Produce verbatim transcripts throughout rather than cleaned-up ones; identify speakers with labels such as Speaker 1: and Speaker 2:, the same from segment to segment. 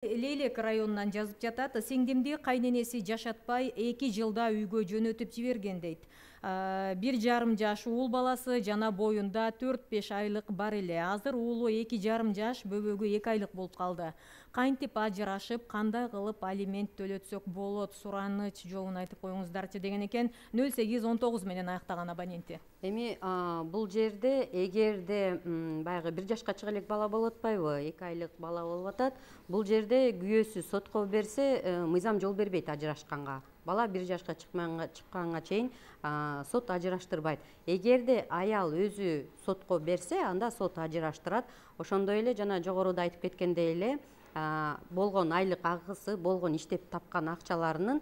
Speaker 1: Лейлек районунан жазып жатат. Сиңдимди кайненеси жашатпай эки жылда үйгө жөнөтүп жиберген дейт. Бир жарым жаш уул баласы жана боюнда төрт беш айлык бар эле. Азыр уулу эки жарым жаш, бөбөгү эки айлык болуп калды. Кантип ажырашып, кандай кылып алимент төлөтсөк болот, сураныч жолун айтып коюңуздарчы деген экен. нөл сегиз он тогуз менен аяктаган абоненти.
Speaker 2: Эми бул жерде эгерде баягы бир жашка чыга элек бала болуп атпайбы, эки айлык бала болуп атат. Бул жерде күйөөсү сотко берсе, мыйзам жол бербейт ажырашканга. Бала бир жашка чыкканга чейин сот ажыраштырбайт. Эгерде аял өзү сотко берсе, анда сот ажыраштырат. Ошондой эле жана жогоруда айтып кеткендей эле болгон айлык агысы, болгон иштеп тапкан акчаларынын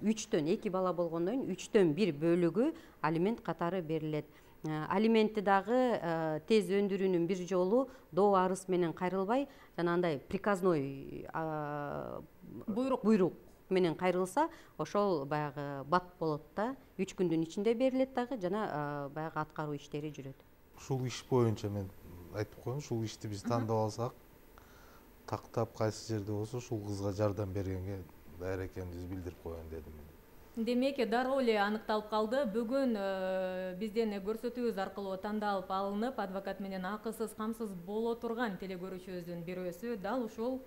Speaker 2: үчтөн эки бала болгондон кийин үчтөн бир бөлүгү алимент катары берилет. Алиментти дагы тез өндүрүүнүн бир жолу доо арыз менен кайрылбай, жанагындай приказной буйрук буйрук менен кайрылса, ошол баягы бат болот да. үч күндүн ичинде берилет дагы, жана баягы аткаруу иштери жүрөт.
Speaker 3: Ушул иш боюнча мен айтып коеюн, ушул ишти биз тандап алсак, тактап кайсы жерде болсо ушул кызга жардам бергенге даяр экенибизди билдирип коеюн дедим.
Speaker 1: Демек, дароо эле аныкталып калды. Бүгүн бизден көрсөтүүбүз аркылуу тандалып алынып, адвокат менен акысыз, камсыз боло турган телекөрүүчүбүздүн бирөөсү дал ушул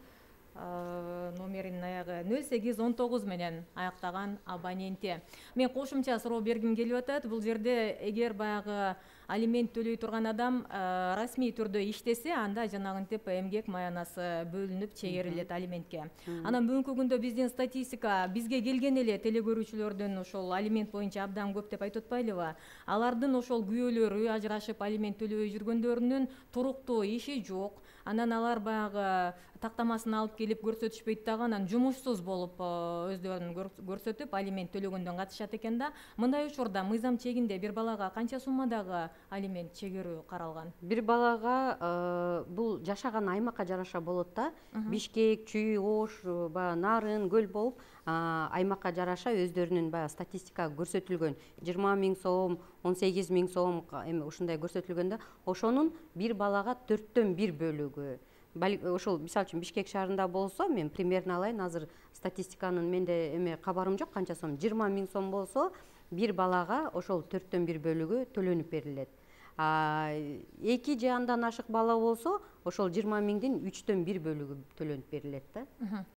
Speaker 1: номеринин аягы нөл сегиз он тогуз менен аяктаган абоненти. Мен кошумча суроо бергим келип атат. Бул жерде эгер баягы алимент төлөй турган адам расмий түрдө иштесе, анда жанагынтип эмгек маянасы бөлүнүп чегерилет алиментке. Анан бүгүнкү күндө биздин статистика бизге келген эле телекөрүүчүлөрдүн ошол алимент боюнча абдан көп деп айтып атпайлыбы? Алардын ошол күйөөлөрү ажырашып алимент төлөбөй жүргөндөрүнүн туруктуу иши жок. Анан алар баягы тактамасын алып келип көрсөтүшпөйт дагы, анан жумушсуз болуп өздөрүн көрсөтүп алимент төлөгөндөн катышат экен да. Мындай учурда мыйзам чегинде бир балага канча суммадагы алимент чегерүү каралган?
Speaker 2: Бир балага бул жашаган аймакка жараша болот да. Бишкек, Чүй, Ош, баягы Нарын, Көл болуп, аймакка жараша өздөрүнүн баягы статистика көрсөтүлгөн. жыйырма миң сом, он сегиз миң сом эми ушундай көрсөтүлгөн да. Ошонун бир балага төрттөн бир бөлүгү. Ошол мисалы үчүн Бишкек шаарында болсо, мен примерно алайын, азыр статистиканын менде эме кабарым жок канча сом. жыйырма миң сом болсо, бир балага ошол төрттөн бир бөлүгү төлөнүп берилет. эки же андан ашык бала болсо, ошол жыйырма миңдин үчтөн бир бөлүгү төлөнүп берилет да.